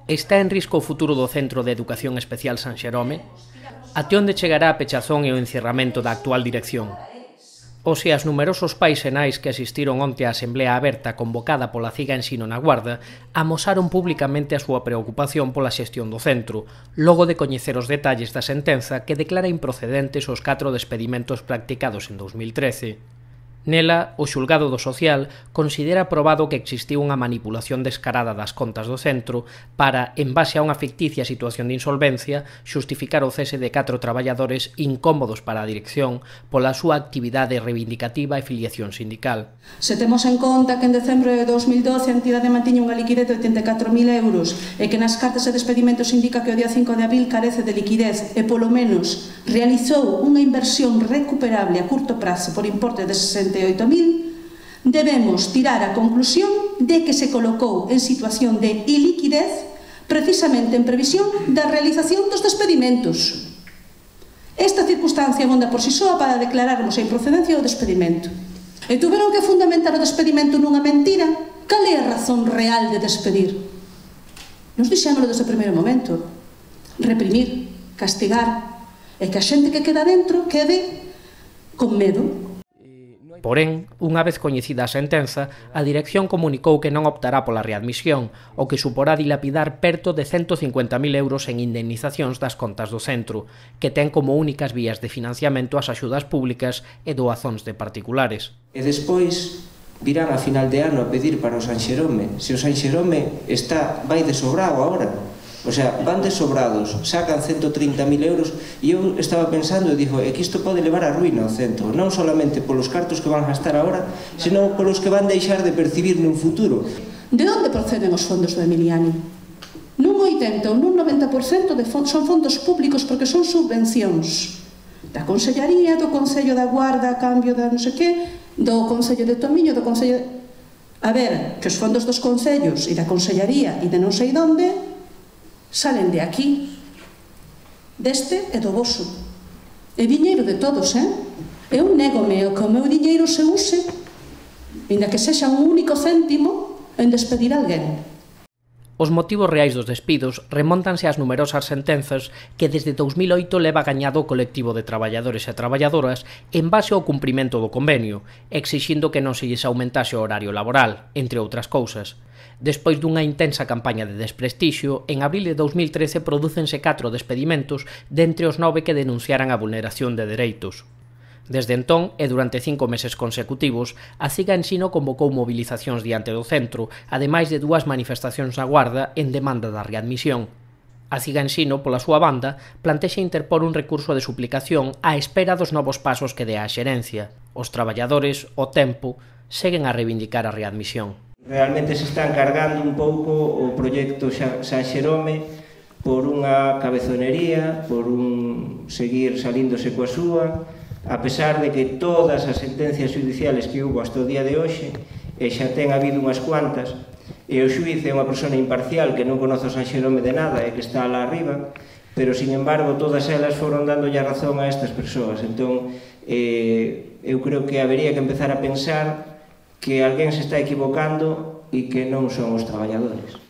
Está en risco o futuro do Centro de Educación Especial San Xerome? Até onde chegará a pechazón e o encerramento da actual dirección? Ou se as numerosos pais e nais que asistiron onte á asemblea aberta convocada pola CIGA Ensino na Guarda amosaron públicamente a súa preocupación pola xestión do centro, logo de coñecer os detalles da sentenza que declara improcedentes os 4 despedimentos practicados en 2013. Nela, o xulgado do social considera probado que existiu unha manipulación descarada das contas do centro para, en base a unha ficticia situación de insolvencia, xustificar o cese de 4 traballadores incómodos para a dirección pola súa actividade reivindicativa e filiación sindical. Se temos en conta que en decembro de 2012 a entidade mantiña unha liquidez de 84.000 euros e que nas cartas de despedimento se indica que o día 5 de abril carece de liquidez e polo menos realizou unha inversión recuperable a curto prazo por importe de 68.000, debemos tirar a conclusión de que se colocou en situación de iliquidez precisamente en previsión da realización dos despedimentos. Esta circunstancia monda por si soa para declararmos a improcedencia do despedimento. E tuveron que fundamentar o despedimento nunha mentira. Cal é a razón real de despedir? Nos dixémolo desde o primeiro momento. Reprimir, castigar, e que a xente que queda dentro quede con medo. Porén, unha vez coñecida a sentenza, a dirección comunicou que non optará pola readmisión, o que suporá dilapidar perto de 150.000 euros en indemnizacións das contas do centro, que ten como únicas vías de financiamento as axudas públicas e doazóns de particulares. E despois virán a final de ano a pedir para o San Xerome. Se o San Xerome vai de sobrado agora, o sea, van desobrados, sacan 130.000 euros e eu estaba pensando e digo, que isto pode levar a ruína ao centro, non solamente polos cartos que van gastar agora, senón polos que van deixar de percibir nun futuro. De onde proceden os fondos do Emiliani? Nun 80 ou nun 90% son fondos públicos porque son subvencións da Consellería, do Concello da Guarda a cambio da non sei que, do Concello de Tomiño, do Concello... A ver, que os fondos dos concellos e da Consellería e de non sei onde salen de aquí, deste e do voso. É diñeiro de todos, Eu négome que o meu diñeiro se use, ainda que sexa un único céntimo, en despedir alguén. Os motivos reais dos despidos remóntanse ás numerosas sentenzas que desde 2008 leva gañado o colectivo de traballadores e traballadoras en base ao cumprimento do convenio, exixindo que non se lles aumentase o horario laboral, entre outras cousas. Despois dunha intensa campaña de desprestixio, en abril de 2013 prodúcense 4 despedimentos dentre os 9 que denunciaran a vulneración de dereitos. Desde entón, e durante 5 meses consecutivos, a CIGA Ensino convocou movilizacións diante do centro, ademais de 2 manifestacións na Guarda en demanda da readmisión. A CIGA Ensino, pola súa banda, plantexa interpor un recurso de suplicación á espera dos novos pasos que dé a xerencia. Os traballadores, ao tempo, seguen a reivindicar a readmisión. Realmente se está encargando un pouco o proxecto San Xerome por unha cabezonería, por un seguir salíndose coa súa, a pesar de que todas as sentencias judiciales que hubo hasta o día de hoxe, e xa ten habido unhas cuantas, e o xuiz é unha persona imparcial que non conoce o San Xerome de nada e que está lá arriba, pero, sin embargo, todas elas foron dándolle a razón a estas persoas. Entón, eu creo que habería que empezar a pensar que alguén se está equivocando e que non son os traballadores.